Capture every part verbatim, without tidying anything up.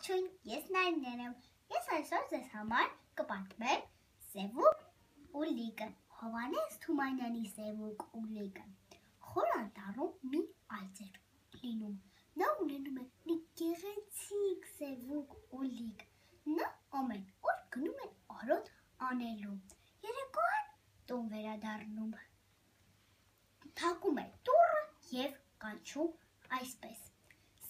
Ողջույն, ես Նարինեն եմ։ Ես այսօր ձեզ համար կպատմեմ Սևուկ ու լիքը։ Հովհաննես Թումանյանի Սևուկ ու լիքը։ Խոր անտառում մի այծ էր լինում։ Նա ունենում է մի գեղեցիկ սևուկ ու լիք։ Նա ամեն օր գնում է արոտ անելու։ Երեկոյան տուն վերադառնում։ Թակում է դուռը և կանչում այսպես.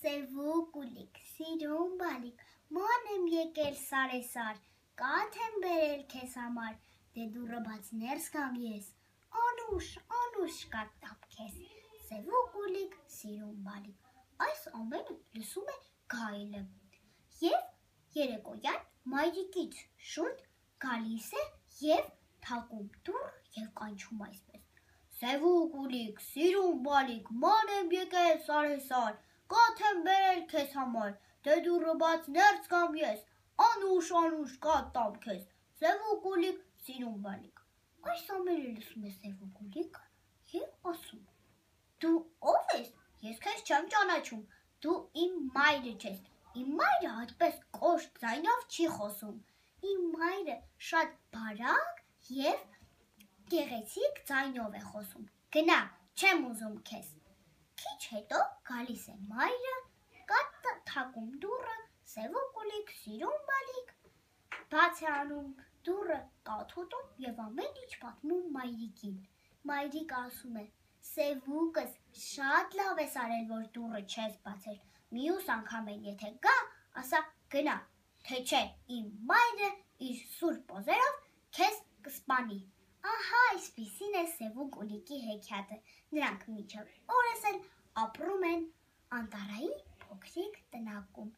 Սևուկ ու լիք, սիրուն բալիկ, ման եմ եկել սարեսար, կաթ եմ բերել քեզ համար, դե դուռը բաց ներս գամ ես, անուշ, անուշ կատամ քեզ, սևուկ ու լիք, սիրուն բալիկ, այս ամենը լսում է գայլը, և երեկոյան մայրիկից շուտ գալիս է և թակում դուռը և կանչում այսպես. Սևուկ ու լիք, սիրուն բալիկ, ման եմ եկել սարեսար, կաթ եմ բերել քեզ համար, դե դուռը բաց ներս գամ ես, անուշ, անուշ կատամ քեզ, սևուկ ու լիք, սիրուն բալիկ։ Այս ամենը լսում է սևուկ ու լիքը և ասում. Դու ո՞վ ես, ես քեզ չեմ ճանաչում, դու իմ մայրը չես, իմ մայրը այդպես կոշտ ձայնով չի խոսում, իմ մայրը շատ բարակ և գեղեցիկ ձայնով է խոսում, գնա, չեմ ուզում քեզ։ Քիչ հետո գալիս է մայրը, թակում դուռը, սևուկ ու լիք, սիրուն բալիկ, բաց է անում դուռը, կաթ ուտում և ամեն ինչ պատմում մայրիկին։ Մայրիկը ասում է. Սևուկս, շատ լավ ես արել, որ դուռը չես բացել, մյուս անգամեն եթե գա, ասա գնա, թե չէ իմ մայրը իր սուրբ օձերով քեզ կսպանի։ Ահա այսպիսին է Սևուկ ու լիքի հեքիաթը, նրանք մինչև օրս էլ ապրում են անտառային փոքրիկ տնակում։